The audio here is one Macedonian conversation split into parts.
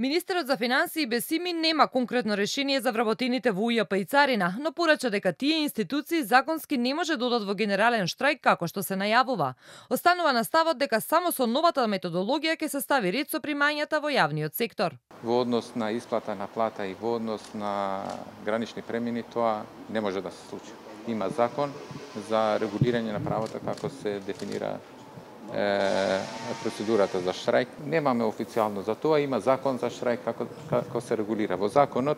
Министерот за финансии Бесими нема конкретно решение за вработените во УЈП и царина, но порача дека тие институции законски не може да одат во генерален штрајк како што се најавува. Останува на ставот дека само со новата методологија ќе се стави ред со примањата во јавниот сектор. Во однос на исплата на плата и во однос на гранични премини тоа не може да се случи. Има закон за регулирање на правото како се дефинира процедурата за штрајк. Немаме официјално за тоа, има закон за штрајк како се регулира. Во законот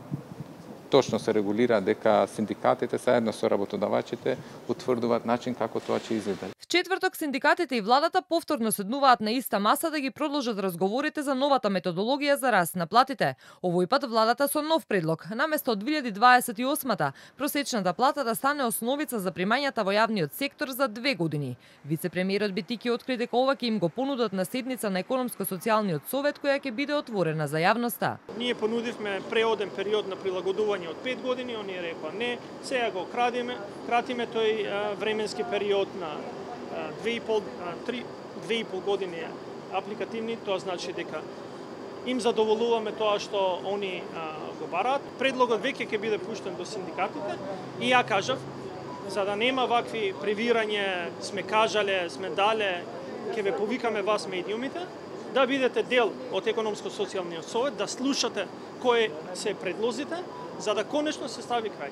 точно се регулира дека синдикатите заедно со работодавачите утврдуваат начин како тоа ќе изгледа. В четврток синдикатите и владата повторно седнуваат на иста маса да ги продолжат разговорите за новата методологија за раст на платите. Овој пат владата со нов предлог. Наместо од 2028-та просечната плата да стане основица за примањата во јавниот сектор за 2 години. Вице-премиерот Битики откри дека ова ќе им го понудат на седница на економско-социјалниот совет која ќе биде отворена за јавноста. Ние понудивме преоден период на прилагодување од 5 години, оние рекоа не, сега го кратиме тој временски период на 2,5 години апликативни, тоа значи дека им задоволуваме тоа што они го бараат. Предлогот веќе ќе биде пуштен до синдикатите и ја кажав, за да нема вакви превирање, сме кажале, сме дале, ќе ве повикаме вас медиумите, да бидете дел од економско-социјалниот совет, да слушате кои се предлозите, за да конечно се стави крај.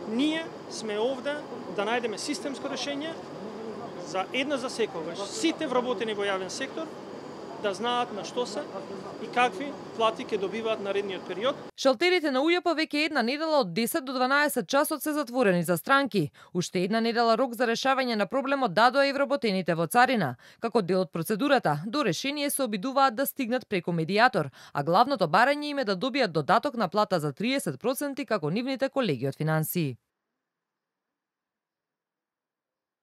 Ние сме овде да најдеме системско решение за една за секогаш. Сите вработени во јавен сектор да знаат на што се и какви плати ќе добиваат наредниот период. Шалтерите на УЈП веќе една недела од 10 до 12 часот се затворени за странки. Уште една недела рок за решавање на проблемот дадоа и вработените во царина. Како дел од процедурата, до решение се обидуваат да стигнат преку медијатор, а главното барање им е да добијат додаток на плата за 30% како нивните колеги од финансии.